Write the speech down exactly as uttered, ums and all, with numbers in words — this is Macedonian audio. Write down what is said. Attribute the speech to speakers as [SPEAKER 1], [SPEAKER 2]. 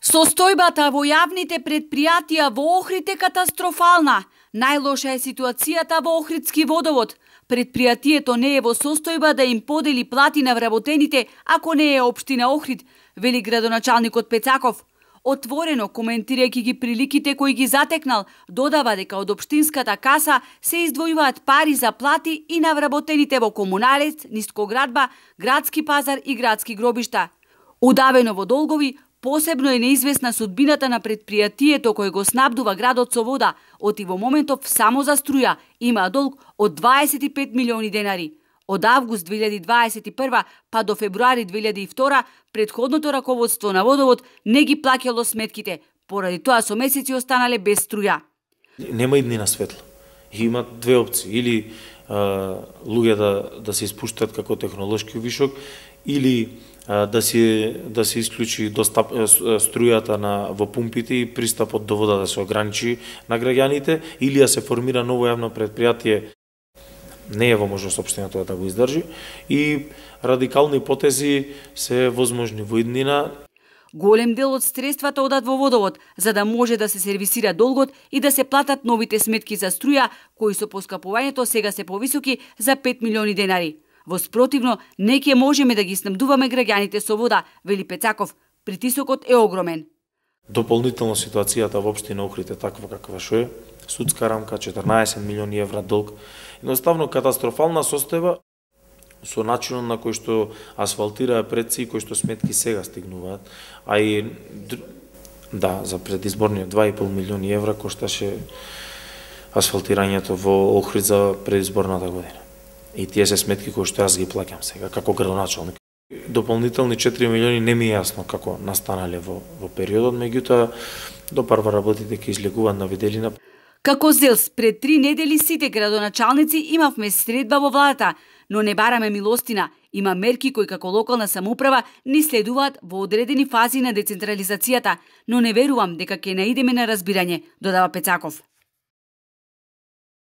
[SPEAKER 1] Состојбата во јавните предпријатија во Охрид е катастрофална. Најлоша е ситуацијата во Охридски водовод. Предпријатието не е во состојба да им подели плати на вработените, ако не е општина Охрид, вели градоначалникот Пецаков. Отворено коментирајќи ги приликите кои ги затекнал, додава дека од општинската каса се издвојуваат пари за плати и на вработените во комуналец, нискоградба, градски пазар и градски гробишта. Удавено во долгови, посебно е неизвестна судбината на предпријатието кој го снабдува градот со вода, оти во моментов само за струја има долг од дваесет и пет милиони денари. Од август две илјади дваесет и прва па до февруари две илјади и втора, предходното раководство на водовод не ги плаќало сметките, поради тоа со месеци останале без струја.
[SPEAKER 2] Нема иднина светло. Има две опции, или а, луѓе да да се испуштат како технолошки вишок, или а, да се да се исклучи достап струјата на во пумпите и пристапот до вода да се ограничи на граѓаните, или да се формира ново јавно предпријатие. Не е во можност општината да го издржи и радикални потези се возможни во иднина.
[SPEAKER 1] Голем дел од средствата одат во водовод, за да може да се сервисира долгот и да се платат новите сметки за струја, кои со поскапувањето сега се повисоки за пет милиони денари. Во спротивно, не ќе можеме да ги снабдуваме граѓаните со вода, вели Пецаков. Притисокот е огромен.
[SPEAKER 2] Дополнително ситуацијата во општина Охрид е таква каква што е. Судска рамка, четрнаесет милиони евра долг. Едноставно катастрофална состојба со начинот на кој што асфалтираа предци и кој што сметки сега стигнуваат. А и да, за предизборниот два и пол милиони евра кошташе асфалтирањето во Охрид за предизборната година. И тие се сметки кои што јас ги плаќам сега како градоначалник. Дополнителни четири милиони не ми е јасно како настанале во во периодот, меѓутоа до прва работите ќе излегуваат на виделина.
[SPEAKER 1] Како ЗЕЛС, пред три недели сите градоначалници имавме средба во владата, но не бараме милостина. Има мерки кои како локална самоуправа ни следуваат во одредени фази на децентрализацијата, но не верувам дека ќе наидеме на разбирање, додава Пецаков.